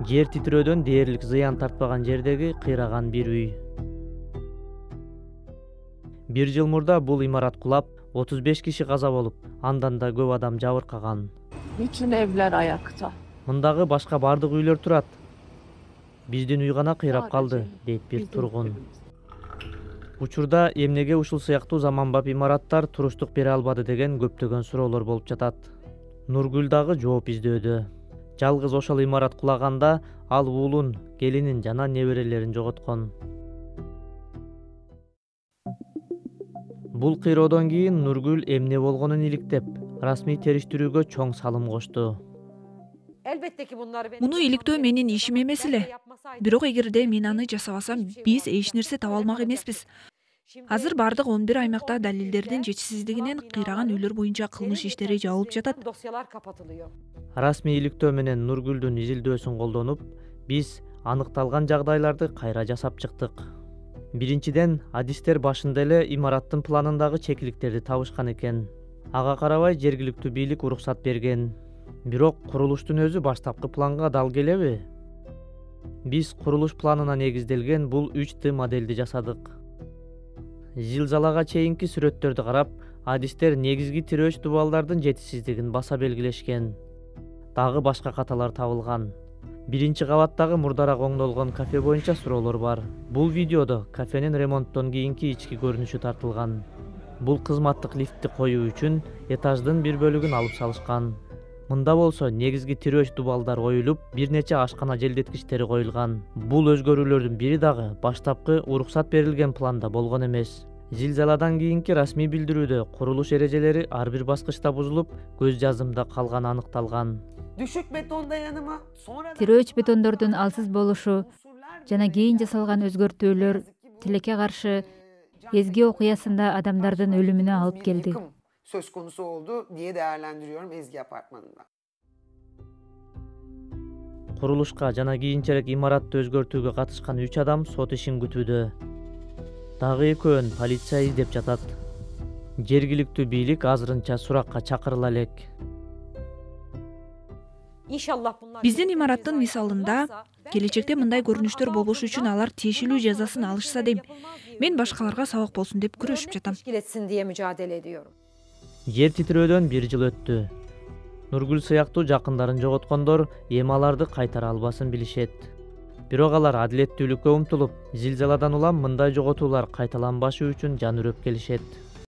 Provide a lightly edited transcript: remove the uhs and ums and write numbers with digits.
Жер титирөөдөн дээрлик зыян тартпаган жердеги кыйраган бир үй. 1 жыл мурда бул имарат кулап, 35 киши каза болуп, андан да көп адам жабыркаган. Bütün evler ayakta. Мындагы башка бардык үйлөр турат. Биздин үй гана кыйрап калды, дейт бир тургун. Учурда эмнеге ушул сыяктуу заманбап имараттар туруштук бере албады деген көптөгөн суроолор болуп жатат. Нургүл дагы жооп издөөдө. Жалгыз ошол имарат кулаганда ал уулун, келинин жана неберелерин жоготкон. Бул кыйроодон кийин Нургүл эмне болгонун иликтеп, расмий териштирүүгө чоң салым кошту. Муну иликтөө менин ишим эмес эле. Бирок эгерде мен аны жасабасам, биз эч нерсе таба алмак эмеспиз. Азыр бардык 11 аймакта далилдердин жетишсиздигинен кыйраган үйлөр боюнча кылмыш иштери жабылып жатат. Расмий иликтөө менен Нургүлдүн изилдөөсүн колдонуп, биз аныкталган жагдайларды кайра жасап чыктык. Биринчиден, адистер башында эле имараттын планындагы чекиликтерди табышкан экен. Ага карабай жергиликтүү бийлик уруксат берген. Бирок курулуштун өзү баштапкы планга дал келеби? Биз курулуш планына негизделген бул 3Т модельди жасадык. Зилзалага чейинки сүрөттөрдү карап, адистер негизги тирөөч дубалдардын жетишсиздигин баса белгилешкен. Дагы башка каталар табылган. Биринчи кабаттагы мурдараак оңдолгон кафе боюнча суроолор бар. Бул видеодо кафенин ремонттон кийинки ички көрүнүшү тартылган. Бул кызматтык лифтти коюу үчүн этаждын бир бөлүгүн алып салышкан. Мында болсо негизги тирөөч дубалдар оюлуп, бир нече ашкана желдеткичтери коюлган. Бул өзгөрүүлөрдүн бири дагы баштапкы уруксат берилген планда болгон эмес. Зилзаладан кийинки расмий билдирүүдө курулуш эрежелери ар бир баскычта бузулуп, көз жазымда калганы аныкталган. Düşük beton dayanımı, Тирөөч бетондордун алсыз болушу жана кийин жасалган өзгөртүүлөр тилекке каршы Ezgi окуясында адамдардын өлүмүнө алып келди. yıkım söz konusu oldu diye değerlendiriyorum Ezgi Apartmanı'nda. Курулушка жана кийинчерээк имаратты өзгөртүүгө катышкан 3 адам сот ишин күтүүдө. Дагы экөөнүн полиция издеп жатат. Жергиликтүү бийлик азырынча суракка чакырыла элек. Биздин имараттын мисалында келечекте мындай көрүнүштөр болбош үчүн алар тиешелүү жазасын алышса дейм. Мен башкаларга сабак болсун деп күрөшүп жатам. Жер титирөөдөн 1 жыл өттү. Нургүл сыяктуу жакындарын жоготкондор эми аларды кайтара албасын билишет. Бирок алар адилеттүүлүккө умтулуп, зилзаладан улам мындай жоготуулар кайталанбашы үчүн жан үрөп келишет.